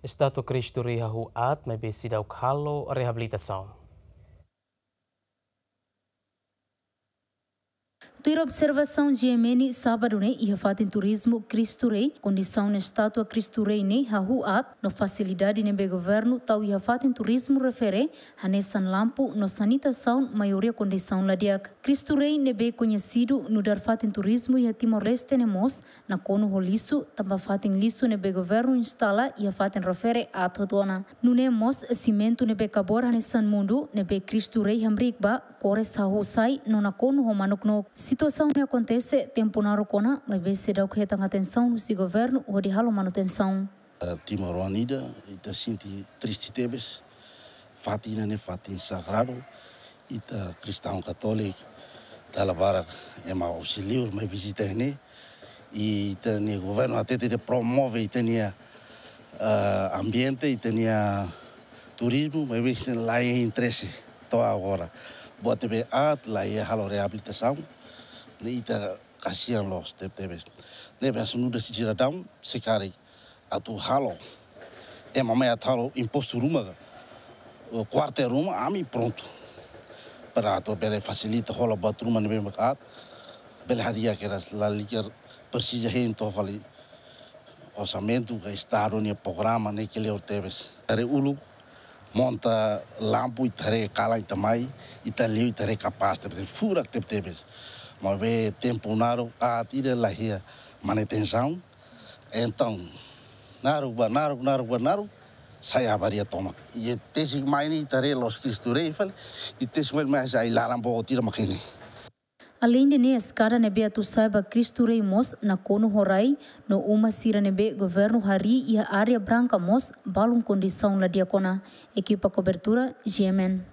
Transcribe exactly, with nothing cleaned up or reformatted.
Estátua Kristu Rei hahú aat maibé seidauk halo reabilitasaun. Tuir observasaun G M N sábadu ne'e iha fatin turizmu Kristu Rei, kondisaun estátua Kristu Rei ne'e hahú aat no fasilidade ne'ebé governu tau iha fatin turizmu refere hanesan lampu no sanitasaun maioria kondisaun la di'ak. Kristu Rei ne'ebé koñesidu nu'udar fatin turizmu iha Timor-Leste ne'e mós nakonu ho lixu, tanba fatin lixu ne'ebé governu instala iha fatin refere aat hotu ona. Nune'e mós simentu ne'ebé kabor hanesan mundu ne'ebé Kristu Rei hamriik ba, kores hahú sai no nakonu ho manuk-nook. Situasaun ne'e akontese tempu naruk ona, maibé seidauk hetan atensaun husi governu hodi halo manutensaun. Eh, timoroan ida, ita sente triste tebes. Fatin ida-ne'e fatin sagradu, ita kristaun katóliku, dala barak ema husi liur mai vizita ne'e. I ita-nia governu hatete atu promove ita-nia, eh, ambiente, ita-nia turizmu, maibé ita la iha interese to'o agora. Buat ne'ebé aat la iha halo reabilitasaun, ne'e ita kasihan loos tebetebes. Ne'ebé hanesan nu'udar sidadaun, se karik atu halo, ema mai atu halo impostu ruma ka, kuartel ruma, ami prontu. Para atu bele fasilita hola buat ruma ne'ebé mak aat, bele hadi'a kedas, lalika presiza hein to'o fali orsamentu ka estadu nia programa ne'e kleur tebes. Haree uluk, monta lampu, ita haree kalan ita mai, ita liu, ita haree kapás tebetebes, furak tebetebes. Maibé tempu naruk aat ida la iha manutensaun. Entaun, naruk ba naruk, naruk ba naruk, sai avaria tomak. I tesik mai ne'e ita haree loos Kristu Rei fali, i tesik mai ne'e sai laran boot ida mak ne'e. Aleinde ne'e, eskada ne'ebé atu sai ba Kristu Rei mós nakonu ho rai, no uma sira ne'ebé governu harii iha área branka mós balun kondisaun la di'ak ona. Ekipa kobertura, G M N.